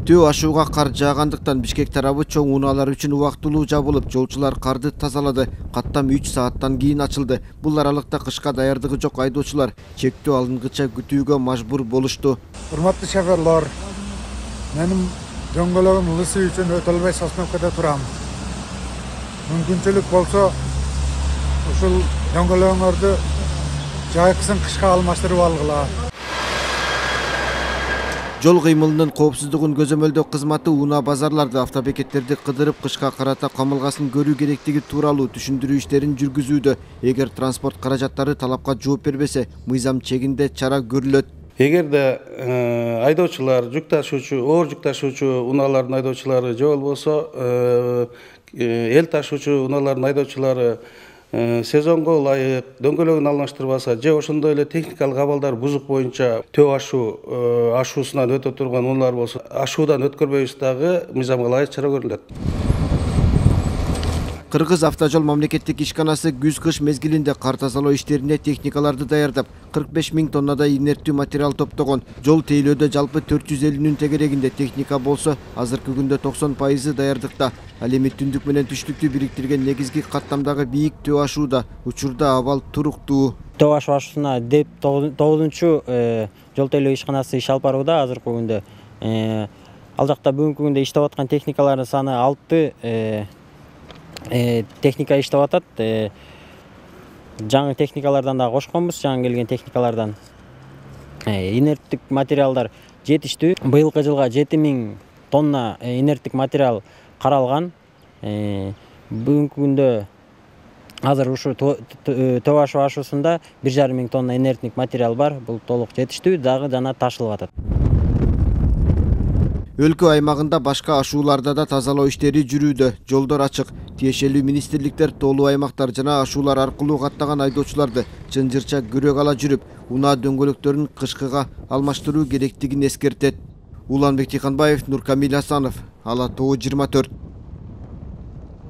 Төө ашууга кар жаагандыктан Бишкек тарабы чоң унаалар үчүн убактылуу жабылып, жолчулар карды тазалады. Каттам 3 сааттан кийин ачылды. Бул аралыкта кышка даярдыгы жок айдоочулар чектөө алынгыча күтүүгө мажбур болушту. Урматтуу шоферлор, менин дөңгөлөгүм ылысуу үчүн өтө албай Сосновкада турам. Мүмкүнчүлүк болсо, ушул дөңгөлөгүңөрдү жайкысын кышка алмаштырып алгыла. Жол кыймылынын коопсуздугун көзөмөлдөө кызматы унаа базарларды, автобекеттерди кыдырып кышка карата камылгасын көрүү керектиги тууралуу түшүндүрүү иштерин жүргүзүүдө. Эгер транспорт каражаттары талапка жооп бербесе, мыйзам чегинде чара көрүлөт. Эгерде айдоочулар, жүк ташуучу, оор жүк ташуучу унаалардын айдоочулары же болбосо эл ташуучу унаалардын айдоочулары сезонго ылайык дөңгөлөгүн алмаштырбаса же ошондой эле техникалык абалдар бузук боюнча төө ашуусунан өтө турган унаалар болсо, ашуудан өткөрбөйбүз дагы мыйзамга ылайык чара көрүлөт. Кыргыз автожол мамлекеттик ишканасы күз-кыш мезгилинде кар тазалоо иштерине техникаларды даярдап, 45 000 тоннадай инерттүү материал топтогон. Жол тейлөөдө жалпы 450 тегерегинде техника болсо, азыркы күндө 90% даярдыкта. Ал эми түндүк менен түштүктү бириктирген негизги каттамдагы бийик төө ашууда. Учурда абал туруктуу. Төө ашуусуна деп 9-жол тейлөө ишканасы иш алып барууда. Азыркы күндө ал жакта бүгүнкү күндө иштеп аткан техникалардын саны 6 техника иштеп атат. Жаңы техникалардан да кошконбуз, жаңы келген техникалардан. Инерттик материалдар жетиштүү. Быйылкы жылга 7000 тонна инерттик материал каралган. Бүгүнкү күндө азыр ушу төө ашуусунда 1500 тонна инерттик материал бар. Бул толук жетиштүү, дагы жана ташылып атат. Өлкө аймагында башка ашууларда да тазалоо иштери жүрүүдө. Жолдор ачык. Тиешелүү министрликтер тоолуу аймактар жана ашуулар аркылуу каттаган айдоочуларды чынжырча көрөк ала жүрүп, унаа дөңгөлөктөрүн кышкыга алмаштыруу керектигин эскертет. Уланбек Тыйканбаев, Нуркамил Асанов, Ала Тоо 24.